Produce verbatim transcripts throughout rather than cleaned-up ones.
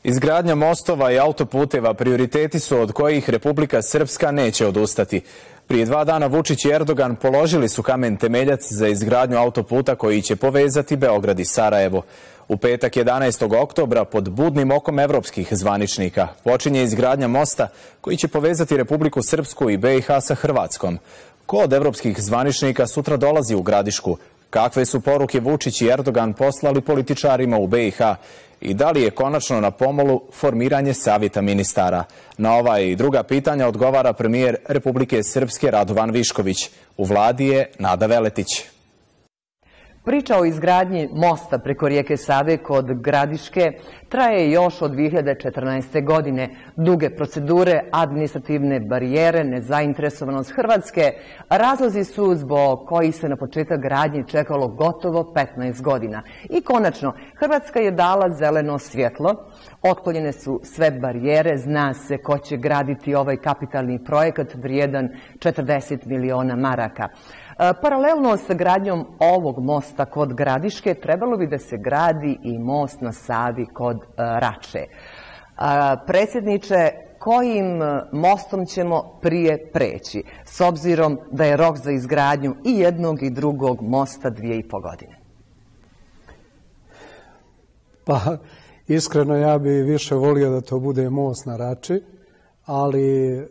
Izgradnja mostova i autoputeva prioriteti su od kojih Republika Srpska neće odustati. Prije dva dana Vučić i Erdogan položili su kamen temeljac za izgradnju autoputa koji će povezati Beograd i Sarajevo. U petak jedanaestog oktobra pod budnim okom evropskih zvaničnika počinje izgradnja mosta koji će povezati Republiku Srpsku i be i ha sa Hrvatskom. Ko od evropskih zvaničnika sutra dolazi u Gradišku? Kakve su poruke Vučić i Erdogan poslali političarima u be i ha? I da li je konačno na pomolu formiranje savjeta ministara? Na ova i druga pitanja odgovara premijer Republike Srpske Radovan Višković. U vladi je Nada Veletić. Priča o izgradnji mosta preko rijeke Save kod Gradiške traje još od dvije hiljade četrnaeste. godine. Duge procedure, administrativne barijere, nezainteresovanost Hrvatske razlozi su zbog kojih se na početak gradnje čekalo gotovo petnaest godina. I konačno, Hrvatska je dala zeleno svjetlo, otklonjene su sve barijere, zna se ko će graditi ovaj kapitalni projekat vrijedan četrdeset miliona maraka. Paralelno sa gradnjom ovog mosta kod Gradiške trebalo bi da se gradi i most na Savi kod Rače. Predsjedniče, kojim mostom ćemo prije preći, s obzirom da je rok za izgradnju i jednog i drugog mosta dvije i po godine? Pa, iskreno ja bi više volio da to bude most na Rači, ali e,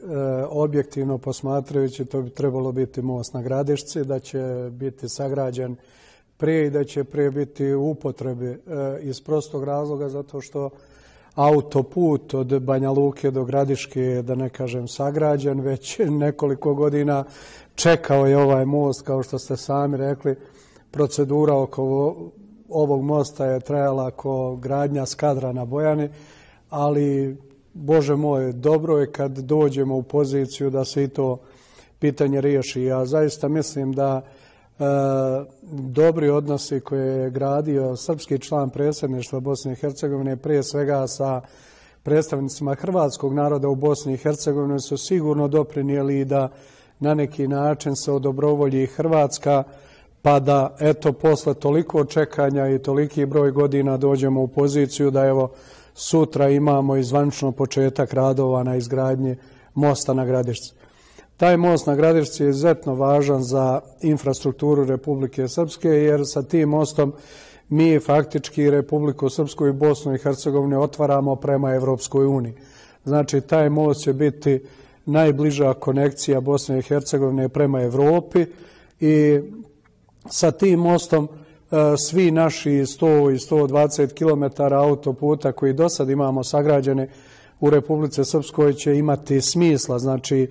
objektivno posmatrajući to bi trebalo biti most na Gradišci, da će biti sagrađen prije i da će prije biti u upotrebi e, iz prostog razloga zato što autoput od Banja Luke do Gradiške je, da ne kažem, sagrađen, već nekoliko godina čekao je ovaj most, kao što ste sami rekli, procedura oko ovog mosta je trajala kao gradnja Skadra na Bojani, ali Bože moj, dobro je kad dođemo u poziciju da se i to pitanje riješi. Ja zaista mislim da e, dobri odnosi koje je gradio srpski član predsjedništva Bosne i Hercegovine, prije svega sa predstavnicima hrvatskog naroda u Bosni i Hercegovini, su sigurno doprinijeli da na neki način se odobrovolji Hrvatska, pa da eto posle toliko čekanja i toliki broj godina dođemo u poziciju da evo sutra imamo i zvanično početak radova na izgradnji mosta na Gradišci. Taj most na Gradišci je izuzetno važan za infrastrukturu Republike Srpske, jer sa tim mostom mi faktički Republiku Srpsku i Bosnu i Hercegovinu otvaramo prema Evropskoj uniji. Znači, taj most će biti najbliža konekcija Bosne i Hercegovine prema Evropi i sa tim mostom svi naši sto i sto dvadeset kilometara autoputa koji do sad imamo sagrađene u Republici Srpskoj će imati smisla. Znači,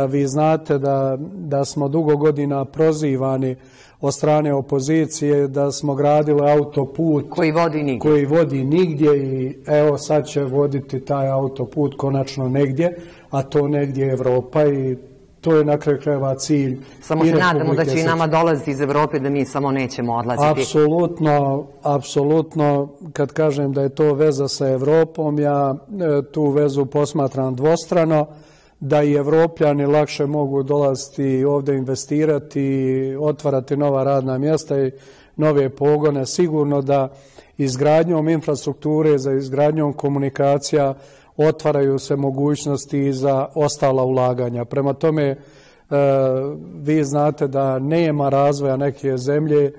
vi znate da, da smo dugo godina prozivani od strane opozicije da smo gradili autoput koji vodi nigdje. koji vodi nigdje i evo sad će voditi taj autoput konačno negdje, a to negdje je Evropa i to je na kraju krajeva cilj. Samo se nadamo da će i nama dolaziti iz Evrope, da mi samo nećemo odlaziti. Apsolutno, apsolutno. Kad kažem da je to veza sa Evropom, ja tu vezu posmatram dvostrano, da i Evropljani lakše mogu dolaziti ovdje investirati, otvarati nova radna mjesta i nove pogone. Sigurno da izgradnjom infrastrukture, za izgradnjom komunikacija otvaraju se mogućnosti i za ostala ulaganja. Prema tome, e, vi znate da nema razvoja neke zemlje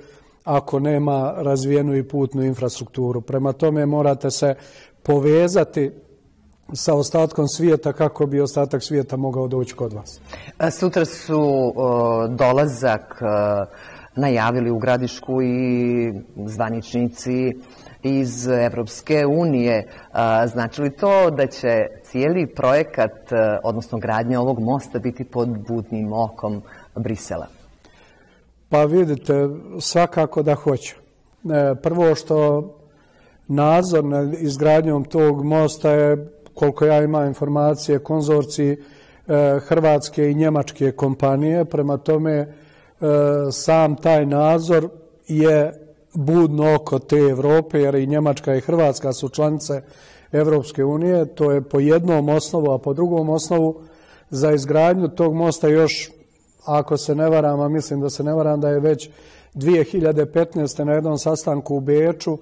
ako nema razvijenu i putnu infrastrukturu. Prema tome, morate se povezati sa ostatkom svijeta kako bi ostatak svijeta mogao doći kod vas. Sutra su o, dolazak o, najavili u Gradišku i zvaničnici iz Evropske unije. Znači li to da će cijeli projekat, odnosno gradnja ovog mosta, biti pod budnim okom Brisela? Pa vidite, svakako da hoće. Prvo što nadzor nad izgradnjom tog mosta je, koliko ja imam informacije, konzorciji hrvatske i njemačke kompanije. Prema tome, sam taj nadzor je budno oko te Evrope, jer i Njemačka i Hrvatska su članice Evropske unije. To je po jednom osnovu, a po drugom osnovu za izgradnju tog mosta još, ako se ne varam, a mislim da se ne varam, da je već dvije hiljade petnaeste. na jednom sastanku u Beču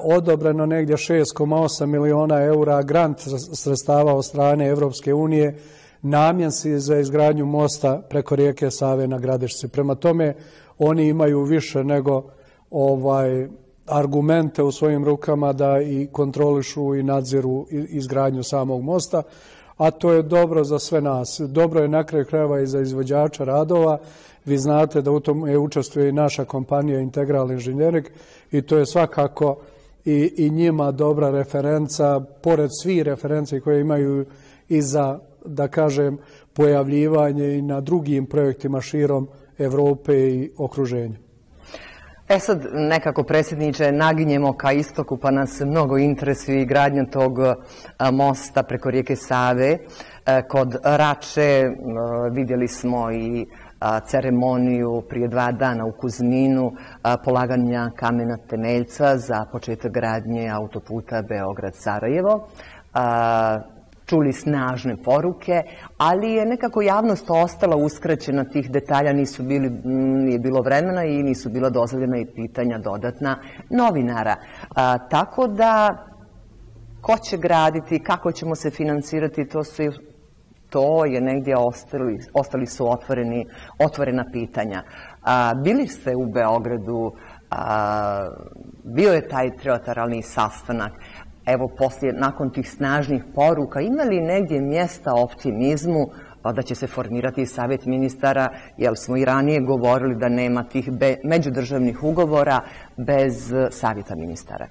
odobreno negdje šest zarez osam miliona eura grant sredstava od strane Evropske unije namjenski za izgradnju mosta preko rijeke Save na Gradišci. Prema tome, oni imaju više nego ovaj argumente u svojim rukama da i kontrolišu i nadziru izgradnju samog mosta, a to je dobro za sve nas. Dobro je na kraju krajeva i za izvođača radova. Vi znate da u tome učestvuje i naša kompanija Integral Inženjering i to je svakako i, i njima dobra referenca, pored svih referenci koje imaju i za, da kažem, pojavljivanje i na drugim projektima širom Evrope i okruženja. E sad, nekako, predsjedniče, naginjemo ka istoku, pa nas mnogo interesuje i gradnja tog mosta preko rijeke Save. Kod Rače vidjeli smo i ceremoniju prije dva dana u Kuzminu, polaganja kamena temeljca za početak gradnje autoputa Beograd-Sarajevo. Čuli snažne poruke, ali je nekako javnost ostala uskraćena tih detalja, nisu bili, nije bilo vremena i nisu bila dozvoljena i pitanja dodatna novinara. A, tako da, ko će graditi, kako ćemo se finansirati, to, su, to je negdje ostali, ostali su otvoreni, otvorena pitanja. A, bili ste u Beogradu, a, bio je taj trilateralni sastanak. Evo, poslije, nakon tih snažnih poruka, ima li negdje mjesta optimizmu da će se formirati savjet ministara, jer smo i ranije govorili da nema tih međudržavnih ugovora bez savjeta ministara?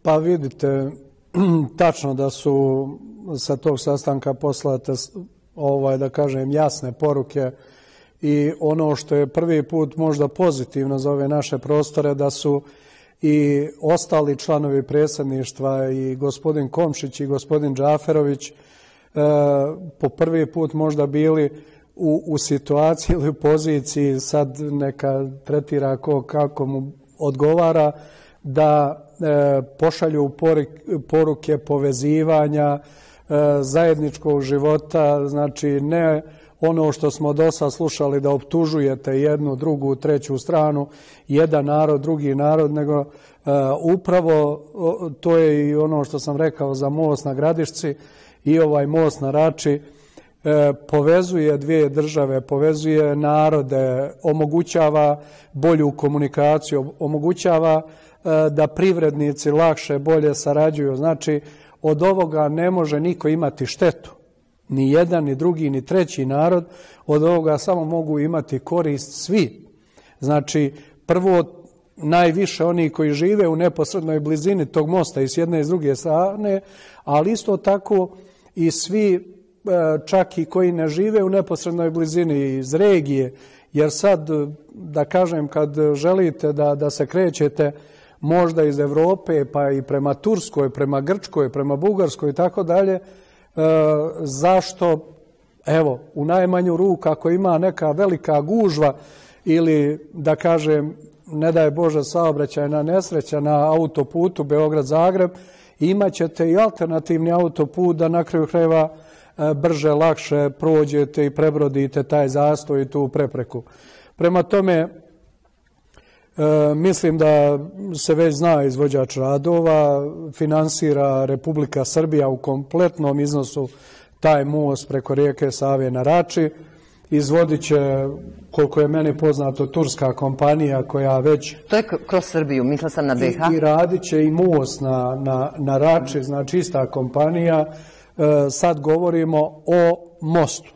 Pa vidite, tačno da su sa tog sastanka poslate, ovaj, da kažem, jasne poruke i ono što je prvi put možda pozitivno za ove naše prostore, da su i ostali članovi predsjedništva i gospodin Komšić i gospodin Džaferović e, po prvi put možda bili u, u situaciji ili u poziciji, sad neka tretira ko, kako mu odgovara, da e, pošalju porik, poruke povezivanja, e, zajedničkog života, znači ne ono što smo do sad slušali da optužujete jednu, drugu, treću stranu, jedan narod, drugi narod, nego uh, upravo uh, to je i ono što sam rekao za most na Gradišci i ovaj most na Rači, uh, povezuje dvije države, povezuje narode, omogućava bolju komunikaciju, omogućava uh, da privrednici lakše, bolje sarađuju. Znači, od ovoga ne može niko imati štetu. Ni jedan, ni drugi, ni treći narod, od ovoga samo mogu imati korist svi. Znači, prvo, najviše oni koji žive u neposrednoj blizini tog mosta i s jedne i s druge strane, ali isto tako i svi, čak i koji ne žive u neposrednoj blizini iz regije, jer sad, da kažem, kad želite da, da se krećete možda iz Evrope, pa i prema Turskoj, prema Grčkoj, prema Bugarskoj i tako dalje, E, zašto, evo, u najmanju ruku ako ima neka velika gužva ili, da kažem, ne daj Bože saobraćajna nesreća na autoputu Beograd-Zagreb, imat ćete i alternativni autoput da na kraju krajeva e, brže, lakše prođete i prebrodite taj zastoj i tu prepreku. Prema tome, e, mislim da se već zna izvođač radova, finansira Republika Srbija u kompletnom iznosu taj most preko rijeke Save na Rači. Izvodit će, koliko je meni poznato, turska kompanija koja već... To je kroz Srbiju, mislila sam na B H. I, i radit će i most na, na, na Rači, znači ista kompanija. E, sad govorimo o mostu.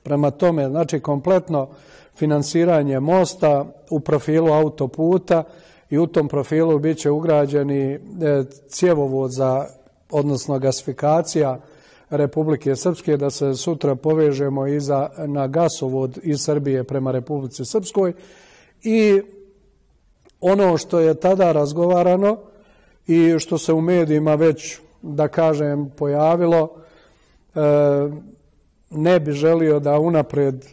Prema tome, znači kompletno finansiranje mosta u profilu autoputa i u tom profilu bit će ugrađeni cjevovod za, odnosno gasifikacija Republike Srpske, da se sutra povežemo i za, na gasovod iz Srbije prema Republici Srpskoj. I ono što je tada razgovarano i što se u medijima već, da kažem, pojavilo, e, ne bi želio da unapred,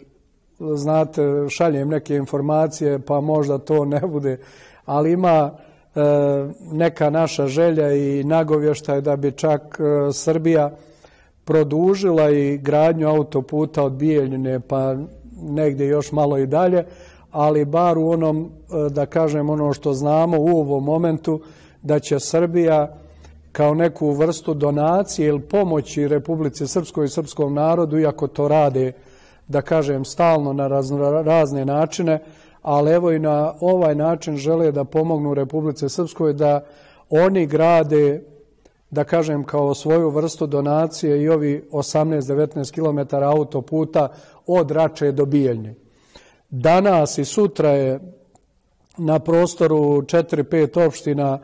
znate, šaljem neke informacije, pa možda to ne bude, ali ima e, neka naša želja i nagovještaj da bi čak e, Srbija produžila i gradnju autoputa od Bijeljine pa negdje još malo i dalje, ali bar u onom, e, da kažem, ono što znamo u ovom momentu, da će Srbija kao neku vrstu donacije ili pomoći Republici Srpskoj i srpskom narodu, iako to rade, da kažem, stalno na razne načine, ali evo i na ovaj način žele da pomognu Republici Srpskoj da oni grade, da kažem, kao svoju vrstu donacije i ovi osamnaest do devetnaest kilometara autoputa od Rače do Bijeljne. Danas i sutra je na prostoru četiri pet opština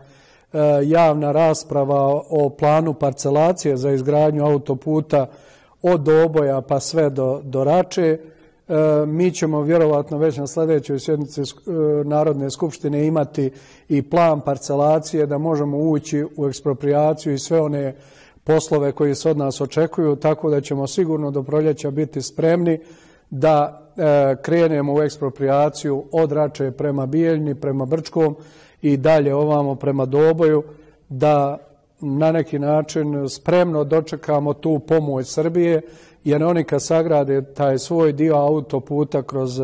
javna rasprava o planu parcelacije za izgradnju autoputa od Doboja pa sve do, do Rače. Mi ćemo vjerovatno već na sljedećoj sjednici Narodne skupštine imati i plan parcelacije da možemo ući u eksproprijaciju i sve one poslove koji se od nas očekuju, tako da ćemo sigurno do proljeća biti spremni da krenemo u eksproprijaciju od Rače prema Bijeljni, prema Brčkom i dalje ovamo prema Doboju, da na neki način spremno dočekamo tu pomoć Srbije, jer oni kad sagrade taj svoj dio autoputa kroz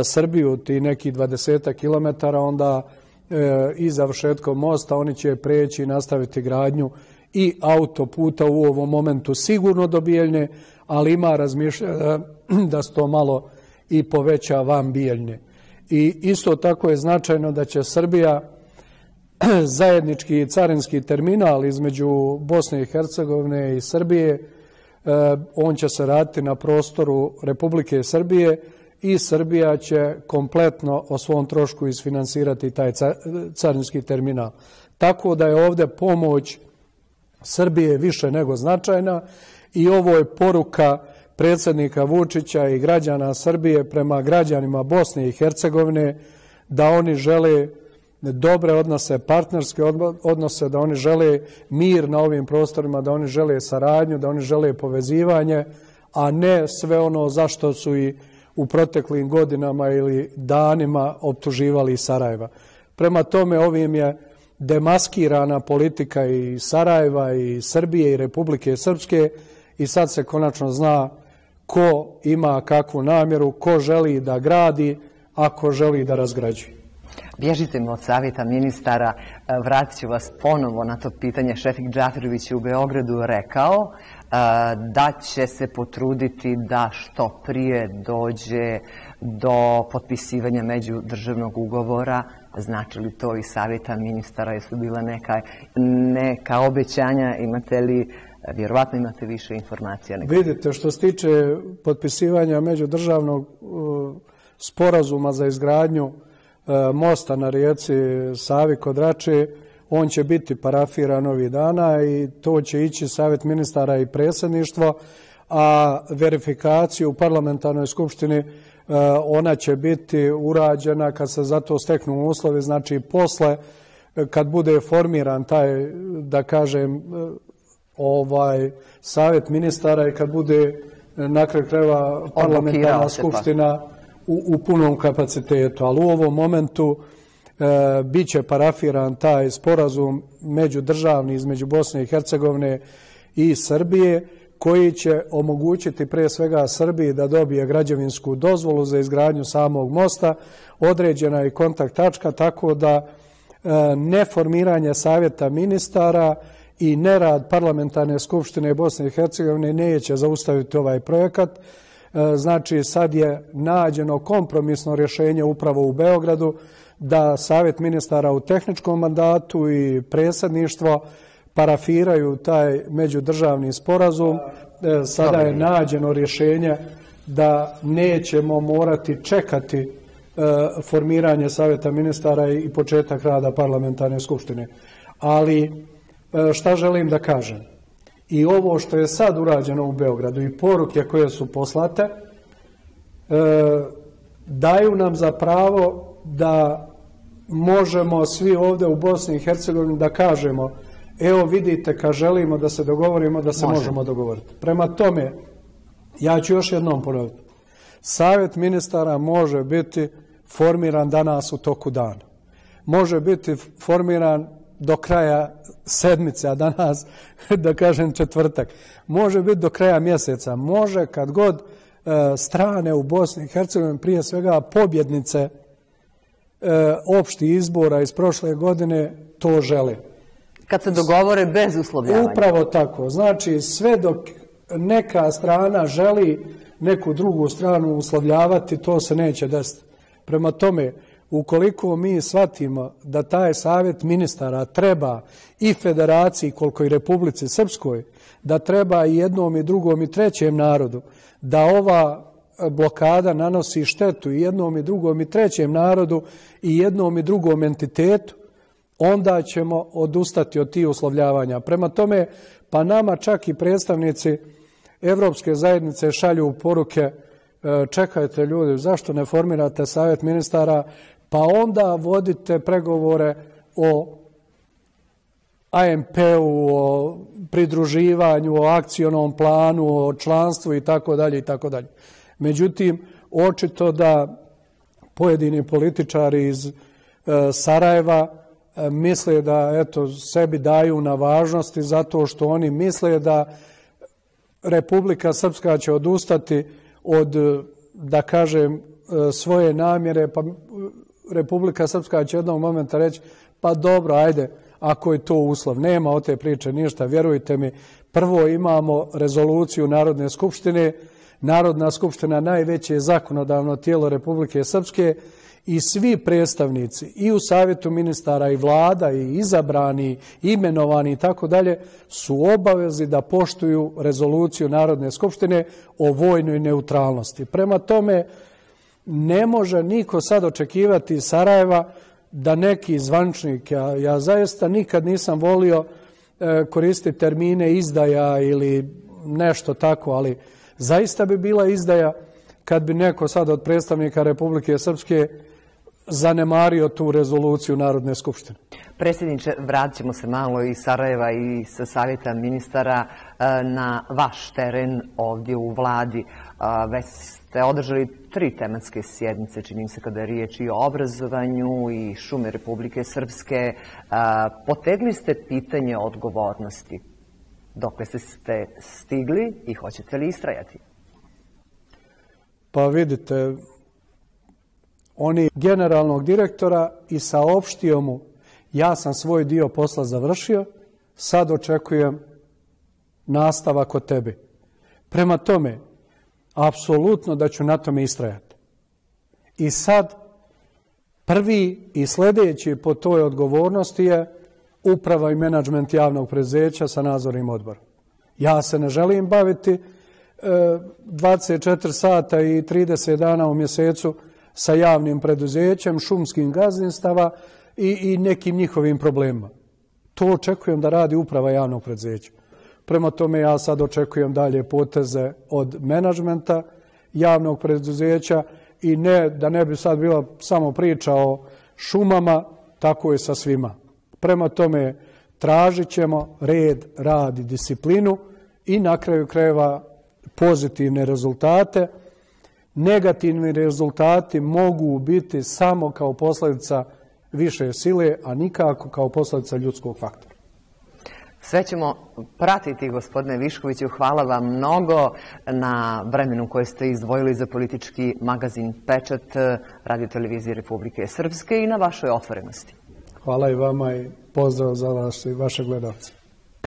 Srbiju, ti neki dvadesetak kilometara, onda i završetkom mosta oni će preći i nastaviti gradnju i autoputa u ovom momentu sigurno do Bijeljne, ali ima razmišljanja da se to malo i poveća van Bijeljne. I isto tako je značajno da će Srbija zajednički carinski terminal između Bosne i Hercegovine i Srbije, on će se raditi na prostoru Republike Srbije i Srbija će kompletno o svom trošku isfinansirati taj carinski terminal. Tako da je ovdje pomoć Srbije više nego značajna i ovo je poruka predsjednika Vučića i građana Srbije prema građanima Bosne i Hercegovine da oni žele dobre odnose, partnerske odnose, da oni žele mir na ovim prostorima, da oni žele saradnju, da oni žele povezivanje, a ne sve ono zašto su i u proteklim godinama ili danima optuživali Sarajeva. Prema tome, ovim je demaskirana politika i Sarajeva i Srbije i Republike Srpske i sad se konačno zna ko ima kakvu namjeru, ko želi da gradi, a ko želi da razgrađuje. Bježite mi od savjeta ministara, vratit ću vas ponovo na to pitanje. Šefik Džaferović je u Beogradu rekao da će se potruditi da što prije dođe do potpisivanja međudržavnog ugovora. Znači li to i savjeta ministara? Jesu bila neka, neka obećanja? Imate li, vjerovatno imate više informacija? Nego... Vidite, što se tiče potpisivanja međudržavnog uh, sporazuma za izgradnju uh, mosta na rijeci Savi kod Rače, on će biti parafiran ovih dana i to će ići savjet ministara i predsjedništvo, a verifikaciju u parlamentarnoj skupštini ona će biti urađena kad se za to steknu uslovi, znači posle kad bude formiran taj, da kažem, ovaj savjet ministara i kad bude na kraju krajeva parlamentarna skupština u, u punom kapacitetu. Ali u ovom momentu e, bit će parafiran taj sporazum međudržavni između Bosne i Hercegovine i Srbije, koji će omogućiti pre svega Srbiji da dobije građevinsku dozvolu za izgradnju samog mosta, određena je kontakt tačka, tako da e, neformiranje savjeta ministara i nerad parlamentarne skupštine Bosne i Hercegovine neće zaustaviti ovaj projekat. E, znači sad je nađeno kompromisno rješenje upravo u Beogradu da savjet ministara u tehničkom mandatu i predsjedništvo parafiraju taj međudržavni sporazum. Sada je nađeno rješenje da nećemo morati čekati formiranje savjeta ministara i početak rada parlamentarne skupštine. Ali šta želim da kažem? I ovo što je sad urađeno u Beogradu i poruke koje su poslate daju nam za pravo da možemo svi ovdje u Bosni i Hercegovini da kažemo: evo vidite, kad želimo da se dogovorimo, da se možemo, možemo dogovoriti. Prema tome, ja ću još jednom ponoviti. Savjet ministara može biti formiran danas u toku dana. Može biti formiran do kraja sedmice, a danas, da kažem, četvrtak. Može biti do kraja mjeseca. Može kad god e, strane u Bosni i Hercegovini, prije svega pobjednice opštih izbora iz prošle godine to žele. Kad se dogovore bez uslovljavanja. Upravo tako. Znači, sve dok neka strana želi neku drugu stranu uslovljavati, to se neće desiti. Prema tome, ukoliko mi shvatimo da taj savjet ministara treba i federaciji, koliko i Republici Srpskoj, da treba i jednom i drugom i trećem narodu, da ova blokada nanosi štetu i jednom i drugom i trećem narodu i jednom i drugom entitetu, onda ćemo odustati od tih uslovljavanja. Prema tome, pa nama čak i predstavnici Evropske zajednice šalju poruke: čekajte ljudi, zašto ne formirate savjet ministara, pa onda vodite pregovore o A M P-u, o pridruživanju, o akcionom planu, o članstvu i tako dalje i tako dalje. Međutim, očito da pojedini političari iz Sarajeva misle da eto sebi daju na važnosti zato što oni misle da Republika Srpska će odustati od, da kažem, svoje namjere, pa Republika Srpska će jednog momenta reći: pa dobro, ajde, ako je to uslov. Nema od te priče ništa, vjerujte mi. Prvo imamo rezoluciju Narodne skupštine. Narodna skupština najveće zakonodavno tijelo Republike Srpske i svi predstavnici i u savjetu ministara i vlada i izabrani, imenovani i tako dalje su obavezi da poštuju rezoluciju Narodne skupštine o vojnoj neutralnosti. Prema tome, ne može niko sad očekivati iz Sarajeva da neki zvančnik, ja, ja zaista nikad nisam volio e, koristiti termine izdaja ili nešto tako, ali zaista bi bila izdaja kad bi neko sad od predstavnika Republike Srpske zanemario tu rezoluciju Narodne skupštine. Predsjedniče, vratit ćemo se malo iz Sarajeva i sa savjeta ministara na vaš teren ovdje u vladi. Već ste održali tri tematske sjednice, čini se, kada je riječ i o obrazovanju i šume Republike Srpske. Potegli ste pitanje odgovornosti. Dokle ste stigli i hoćete li istrajati? Pa vidite, oni generalnog direktora i saopštio mu: ja sam svoj dio posla završio, sad očekujem nastavak od tebe. Prema tome, apsolutno da ću na tome istrajati. I sad, prvi i sljedeći po toj odgovornosti je uprava i menadžment javnog preduzeća sa nadzornim odborom. Ja se ne želim baviti e, dvadeset četiri sata i trideset dana u mjesecu sa javnim preduzećem, šumskim gazdinstava i, i nekim njihovim problemima. To očekujem da radi uprava javnog preduzeća. Prema tome, ja sad očekujem dalje poteze od menadžmenta javnog preduzeća i ne, da ne bi sad bila samo priča o šumama, tako je sa svima. Prema tome, tražit ćemo red, rad i disciplinu i na kraju krajeva pozitivne rezultate. Negativni rezultati mogu biti samo kao posljedica više sile, a nikako kao posljedica ljudskog faktora. Sve ćemo pratiti, gospodine Viškoviću. Hvala vam mnogo na vremenu koje ste izdvojili za politički magazin Pečat Radio-televizije Republike Srpske i na vašoj otvorenosti. Hvala i vama i pozdrav za vas i vaše gledalce.